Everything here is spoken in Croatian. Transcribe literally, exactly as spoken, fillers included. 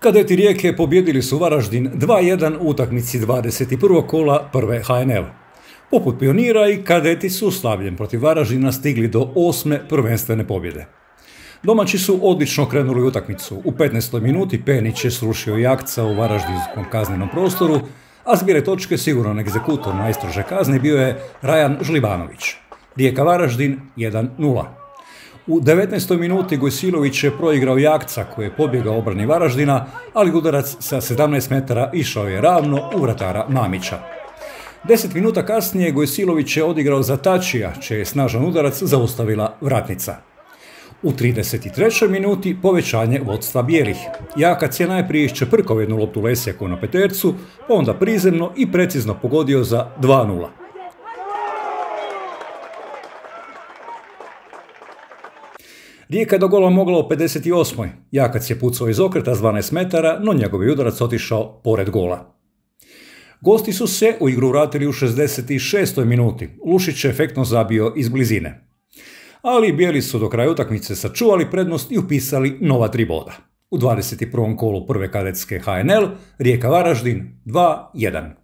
Kadeti Rijeke pobjedili su Varaždin dva jedan u utakmici dvadeset prvog kola prve H N L. Poput Pionira i kadeti su slavljem protiv Varaždina stigli do osme prvenstvene pobjede. Domaći su odlično krenuli u utakmicu. U petnaestoj minuti Penić je srušio Jakca u varaždinskom kaznenom prostoru, a zbire točke siguran egzekutor najstrože kazne bio je Rajan Žlibanović. Rijeka Varaždin jedan nula. U devetnaestoj minuti Gojsilović je proigrao Jakca koji je pobjegao obrani Varaždina, ali udarac sa sedamnaest metara išao je ravno u vratara Mamića. Deset minuta kasnije Gojsilović je odigrao za Tačija, čiji je snažan udarac zaustavila vratnica. U trideset trećoj minuti povećanje vodstva bijelih. Jakac je najprije iščeprkao jednu loptu Lesjaku na petercu, pa onda prizemno i precizno pogodio za dva nula. Rijeka je do gola mogla u pedeset osmoj Jakac je pucao iz okreta s dvanaest metara, no njegov je udarac otišao pored gola. Gosti su se u igru vratili u šezdeset šestoj minuti. Lušić je efektno zabio iz blizine. Ali bijeli su do kraja utakmice sačuvali prednost i upisali nova tri boda. U dvadeset prvom kolu prve kadetske H N L Rijeka Varaždin dva jedan.